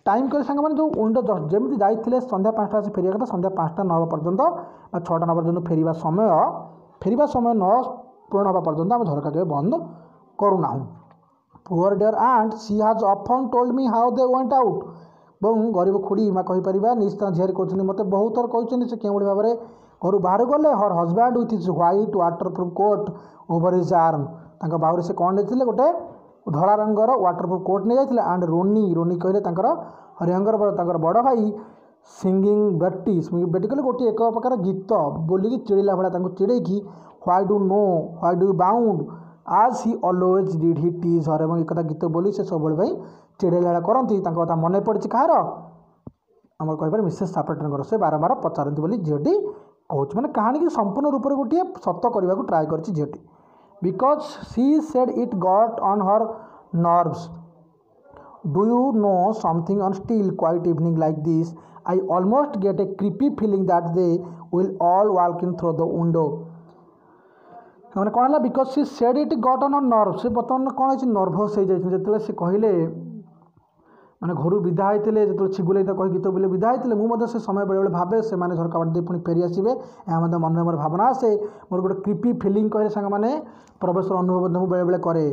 ଟାଇମ୍ କରି ସାଙ୍ଗମାନେ ଯେଉଁ ୱିଣ୍ଡୋ ଯେମିତି ଯାଇଥିଲେ ସନ୍ଧ୍ୟା ପାଞ୍ଚଟା ଆସି ଫେରିବା କଥା ସନ୍ଧ୍ୟା ପାଞ୍ଚଟା ନ ହେବା ପର୍ଯ୍ୟନ୍ତ ବା ଛଅଟା ନ ପର୍ଯ୍ୟନ୍ତ ଫେରିବା ସମୟ ଫେରିବା ସମୟ ନ ପୂରଣ ହେବା ପର୍ଯ୍ୟନ୍ତ ଆମେ ଝରକା କେବେ ବନ୍ଦ କରୁନାହୁଁ Poor dear aunt she has often told me how they went out ଏବଂ ଗରିବ ଖୁଡ଼ି ମା କହିପାରିବା ନିଜ ତାଙ୍କ ଝିଆରୀ କହୁଛନ୍ତି ମୋତେ ବହୁତ ଥର କହିଛନ୍ତି ସେ କେଉଁଭଳି ଭାବରେ ଘରୁ ବାହାରକୁ ଗଲେ her husband with his white waterproof coat over his arm ତାଙ୍କ ବାହୁରେ ସେ କ'ଣ ନେଇଥିଲେ ଗୋଟେ ଧଳା ରଙ୍ଗର ୱାଟରପ୍ରୁଫ୍ କୋଟ୍ ନେଇଯାଇଥିଲେ ଆଣ୍ଡ ରୋନି ରୋନି କହିଲେ ତାଙ୍କର ହରିହଙ୍ଗର ତାଙ୍କର ବଡ଼ ଭାଇ ସିଙ୍ଗିଂ ବେଟି ବେଟି କହିଲେ ଗୋଟିଏ ଏକ ପ୍ରକାର ଗୀତ ବୋଲିକି ଚିଡ଼ିଲା ଭଳିଆ ତାଙ୍କୁ ଚିଡ଼େଇକି why do no why do bound as he always did he tease her ଏବଂ ଏକଥା ଗୀତ ବୋଲି ସେ ସବୁବେଳେ ପାଇଁ ଚିଡ଼େଇଲା ଭଳିଆ କରନ୍ତି ତାଙ୍କ କଥା ମନେ ପଡ଼ିଛି କାହାର ଆମର କହିପାରେ ମିସେସ୍ ସାପଲ୍ଟନଙ୍କର ସେ ବାରମ୍ବାର ପଚାରନ୍ତି ବୋଲି ଝିଅଟି କହୁଛି ମାନେ କାହାଣୀକି ସମ୍ପୂର୍ଣ୍ଣ ରୂପରେ ଗୋଟିଏ ସତ କରିବାକୁ ଟ୍ରାଏ କରିଛି ଝିଅଟି because she said it got on her nerves Do you know something on still quiet evening like this? I almost get a creepy feeling that they will all walk in through the window. ମାନେ କ'ଣ ହେଲା because she said it got on nerve ସେ ବର୍ତ୍ତମାନ କ'ଣ ହେଇଛି nervous ହେଇଯାଇଛନ୍ତି ଯେତେବେଳେ ସେ କହିଲେ ମାନେ ଘରୁ ବିଦା ହେଇଥିଲେ ଯେତେବେଳେ ଛିଗୁଲେଇ କହି ଗୀତ ବୋଲି ବିଦା ହେଇଥିଲେ ମୁଁ ମଧ୍ୟ ସେ ସମୟ ବେଳେବେଳେ ଭାବେ ସେମାନେ ଝରକା ବାଟ ଦେଇ ପୁଣି ଫେରି ଆସିବେ ଏହା ମଧ୍ୟ ମନରେ ମୋର ଭାବନା ଆସେ ମୋର ଗୋଟେ କ୍ରିପି ଫିଲିଂ କହିଲେ ସାଙ୍ଗମାନେ ପ୍ରବେଶର ଅନୁଭବ ମଧ୍ୟ ମୁଁ ବେଳେବେଳେ କରେ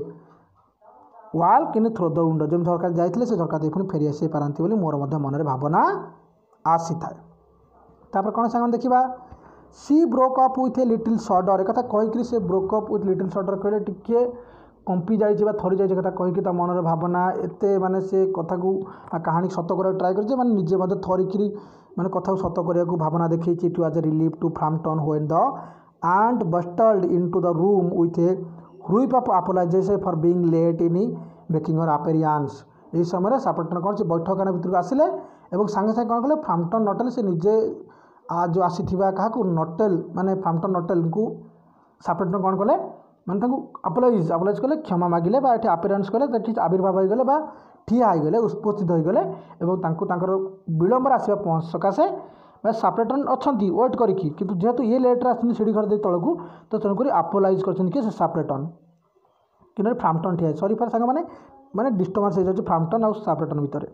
walk in through the window ଯେମିତି ଝରକା ଯାଇଥିଲେ ସେ ଝରକା ଦେଇ ପୁଣି ଫେରି ଆସିପାରନ୍ତି ବୋଲି ମୋର ମଧ୍ୟ ମନରେ ଭାବନା ଆସିଥାଏ ତାପରେ କ'ଣ ସାଙ୍ଗମାନେ ଦେଖିବା She broke off with a little shudder ଏକଥା କହିକିରି ସେ broke off with little shudder କହିଲେ ଟିକିଏ କମ୍ପି ଯାଇଛି ବା ଥରି ଯାଇଛି କଥା କହିକି ତା ମନରେ ଭାବନା ଏତେ ମାନେ ସେ କଥାକୁ କାହାଣୀ ସତ କରିବାକୁ ଟ୍ରାଏ କରିଛି ମାନେ ନିଜେ ମଧ୍ୟ ଥରିକିରି ମାନେ କଥାକୁ ସତ କରିବାକୁ ଭାବନା ଦେଖେଇଛି It was a relief to Framton when the aunt bustled into the room with a whoop of apologies for being late in making her appearance ଏହି ସମୟରେ ସାପଲ୍ଟନ୍ କ'ଣ ସେ ବୈଠକଖାନା ଭିତରକୁ ଆସିଲେ ଏବଂ ସାଙ୍ଗେ ସାଙ୍ଗେ କ'ଣ କଲେ ଫ୍ରାମ୍ପଟନ୍ ନଟେଲ୍ ସେ ନିଜେ ଯେଉଁ ଆସିଥିବା କାହାକୁ ନଟେଲ୍ ମାନେ ଫ୍ରାମ୍ପଟନ୍ ନଟେଲ୍ଙ୍କୁ ସାପଲ୍ଟନ୍ କ'ଣ କଲେ ମାନେ ତାଙ୍କୁ ଆପୋଲୋଜାଇଜ୍ ଆପୋଲୋଜାଇଜ୍ କଲେ କ୍ଷମା ମାଗିଲେ ବା ଏଠି ଆପିୟରାନ୍ସ କଲେ ସେଠି ଆବିର୍ଭାବ ହୋଇଗଲେ ବା ଠିଆ ହୋଇଗଲେ ଉପସ୍ଥିତ ହୋଇଗଲେ ଏବଂ ତାଙ୍କୁ ତାଙ୍କର ବିଳମ୍ବରେ ଆସିବା ସକାଶେ ବା ସାପଲ୍ଟନ୍ ଅଛନ୍ତି ୱେଟ୍ କରିକି କିନ୍ତୁ ଯେହେତୁ ଇଏ ଲେଟ୍ରେ ଆସିଛନ୍ତି ସିଢ଼ି ଘର ଦେଇ ତଳକୁ ତ ତେଣୁକରି ଆପୋଲୋଜାଇଜ୍ କରିଛନ୍ତି କି ସେ ସାପଲ୍ଟନ୍ କିନ୍ତୁ ଫ୍ରାମ୍ପଟନ୍ ଠିଆ ସରି ଫାର୍ ସାଙ୍ଗମାନେ ମାନେ ଡିଷ୍ଟର୍ବାନ୍ସ ହେଇଯାଉଛି ଫ୍ରାମ୍ପଟନ୍ ଆଉ ସାପଲ୍ଟନ୍ ଭିତରେ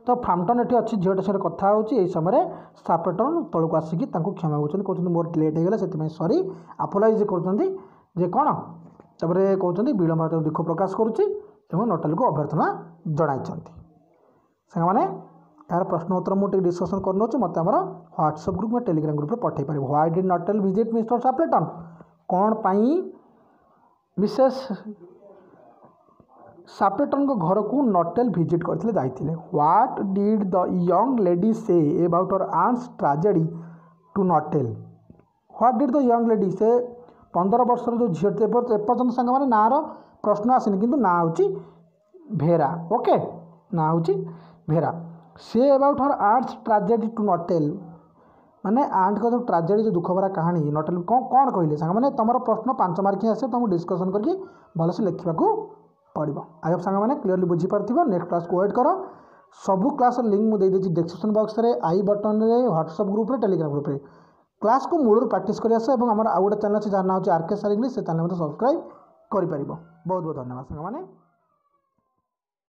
ତ ଫ୍ରାମ୍ପଟନ୍ ଏଠି ଅଛି ଝିଅଟା ସାଙ୍ଗରେ କଥା ହେଉଛି ଏହି ସମୟରେ ସାପଲ୍ଟନ୍ ତଳକୁ ଆସିକି ତାଙ୍କୁ କ୍ଷମା ମାଗୁଛନ୍ତି କହୁଛନ୍ତି ମୋର ଲେଟ୍ ହେଇଗଲା ସେଥିପାଇଁ ସରି ଆପୋଲୋଜାଇଜ୍ କରୁଛନ୍ତି ଯେ କ'ଣ ତାପରେ କହୁଛନ୍ତି ବିଳମ୍ବ ଦୁଃଖ ପ୍ରକାଶ କରୁଛି ଏବଂ ନଟେଲକୁ ଅଭ୍ୟର୍ଥନା ଜଣାଇଛନ୍ତି ସାଙ୍ଗମାନେ ଏହାର ପ୍ରଶ୍ନ ଉତ୍ତର ମୁଁ ଟିକେ ଡିସ୍କସନ୍ କରିନେଉଛି ମୋତେ ଆମର ହ୍ୱାଟ୍ସଆପ୍ ଗ୍ରୁପ୍ ବା ଟେଲିଗ୍ରାମ ଗ୍ରୁପ୍ରେ ପଠାଇ ପାରିବ Why did Nuttel visit Mister Sappleton କ'ଣ ପାଇଁ ମିସେସ୍ ସାପଲ୍ଟନ୍ଙ୍କ ଘରକୁ ନଟେଲ୍ ଭିଜିଟ୍ କରିଥିଲେ ଯାଇଥିଲେ What did the young lady say about her aunt's tragedy to Nuttel What did the young lady ସେ ପନ୍ଦର ବର୍ଷର ଯେଉଁ ଝିଅଟି ଏପର୍ଯ୍ୟନ୍ତ ସାଙ୍ଗମାନେ ନାଁର ପ୍ରଶ୍ନ ଆସିନି କିନ୍ତୁ ନାଁ ହେଉଛି ଭେରା ଓକେ ନାଁ ହେଉଛି ଭେରା say about her aunt's tragedy to Nuttel ମାନେ ଆଣ୍ଟଙ୍କ ଯେଉଁ ଟ୍ରାଜେଡ଼ି ଯେଉଁ ଦୁଃଖଭରା କାହାଣୀ ନଟେଲ୍ କ'ଣ କ'ଣ କହିଲେ ସାଙ୍ଗମାନେ ତୁମର ପ୍ରଶ୍ନ ପାଞ୍ଚ ମାର୍କ ହିଁ ଆସିବ ତୁମକୁ ଡିସ୍କସନ୍ କରିକି ଭଲସେ ଲେଖିବାକୁ ପଡ଼ିବ I Hope ସାଙ୍ଗମାନେ କ୍ଲିୟରଲି ବୁଝିପାରୁଥିବ ନେକ୍ସଟ କ୍ଲାସ୍କୁ ୱେଟ୍ କର ସବୁ କ୍ଲାସ୍ର ଲିଙ୍କ୍ ମୁଁ ଦେଇଦେଇଛି ଡେସ୍କ୍ରିପସନ୍ ବକ୍ସରେ I ବଟନ୍ରେ ହ୍ୱାଟ୍ସଆପ୍ ଗ୍ରୁପ୍ରେ ଟେଲିଗ୍ରାମ ଗ୍ରୁପ୍ରେ କ୍ଲାସ୍କୁ ମୂଳରୁ ପ୍ରାକ୍ଟିସ୍ କରି ଆସ ଏବଂ ଆମର ଆଉ ଗୋଟେ ଚ୍ୟାନେଲ୍ ଅଛି ଯାହାର ନାଁ ହେଉଛି ଆର୍ କେ ସାର୍ ଇଂଲିଶ ସେ ଚ୍ୟାନେଲ୍ ମଧ୍ୟ ସବସ୍କ୍ରାଇବ୍ କରିପାରିବ ବହୁତ ବହୁତ ଧନ୍ୟବାଦ ସାଙ୍ଗମାନେ